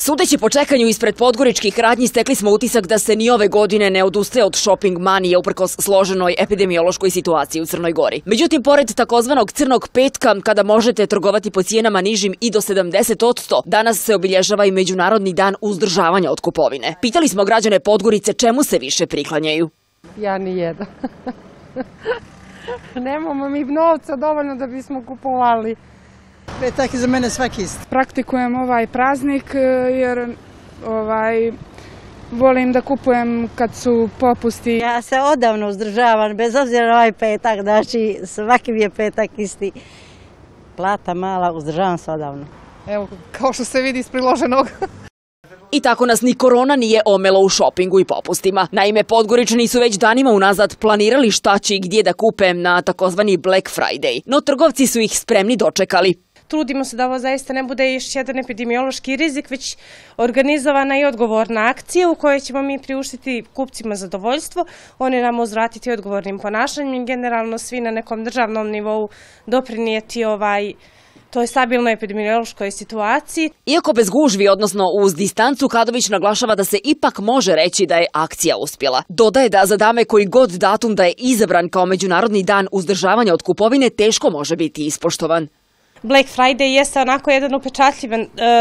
Sudeći po čekanju ispred podgoričkih radnji, stekli smo utisak da se ni ove godine ne odustaje od shopping manije uprkos složenoj epidemiološkoj situaciji u Crnoj Gori. Međutim, pored takozvanog crnog petka, kada možete trgovati po cijenama nižim i do 70%, danas se obilježava i Međunarodni dan uzdržavanja od kupovine. Pitali smo građane Podgorice čemu se više priklanjaju. Ja ni jedan. Nemamo mi novca dovoljno da bismo kupovali. Petak je za mene svaki isti. Praktikujem ovaj praznik jer volim da kupujem kad su popusti. Ja se odavno uzdržavam, bez obzira na ovaj petak, znači svaki mi je petak isti. Plata mala, uzdržavam se odavno. Evo, kao što se vidi iz priloženog. I tako nas ni korona nije omelo u šopingu i popustima. Naime, Podgoričani su već danima unazad planirali šta će i gdje da kupe na takozvani Black Friday, no trgovci su ih spremni dočekali. Trudimo se da ovo zaista ne bude još jedan epidemiološki rizik, već organizovana i odgovorna akcija u kojoj ćemo mi priuštiti kupcima zadovoljstvo, oni nam uzvratiti odgovornim ponašanjem i generalno svi na nekom državnom nivou doprinijeti toj stabilnoj epidemiološkoj situaciji. Iako bez gužvi, odnosno uz distancu, Kadović naglašava da se ipak može reći da je akcija uspjela. Dodaje da za dame koji god datum da je izabran kao Međunarodni dan uzdržavanja od kupovine teško može biti ispoštovan. Black Friday jeste onako jedan upečatljiv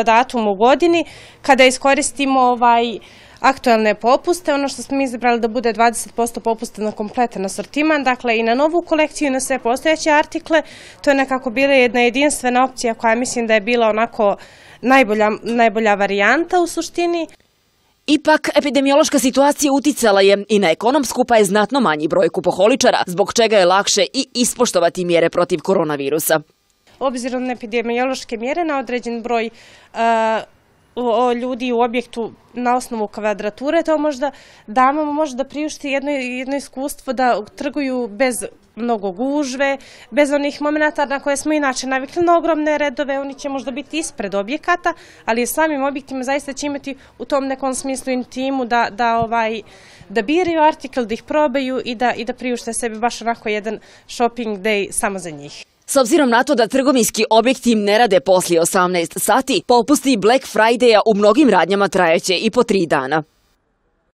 datum u godini kada iskoristimo aktualne popuste. Ono što smo izabrali da bude 20% popusta na kompletan asortiman, dakle i na novu kolekciju i na sve postojeće artikle. To je nekako bila jedna jedinstvena opcija koja mislim da je bila onako najbolja varijanta u suštini. Ipak, epidemiološka situacija uticala je i na ekonomsku, pa je znatno manji broj kupoholičara, zbog čega je lakše i ispoštovati mjere protiv koronavirusa. Obzirom na epidemiološke mjere, na određen broj ljudi u objektu na osnovu kvadrature, to možda damama može da priušti jedno iskustvo da trguju bez mnogo gužve, bez onih momenta na koje smo inače navikli na ogromne redove. Oni će možda biti ispred objekata, ali samim objektima zaista će imati u tom nekom smislu intimu da biraju artikl, da ih probaju i da priušte sebi baš onako jedan shopping day samo za njih. S obzirom na to da trgovinski objekti ne rade poslije 18 sati, popusti Black Friday-a u mnogim radnjama trajeće i po 3 dana.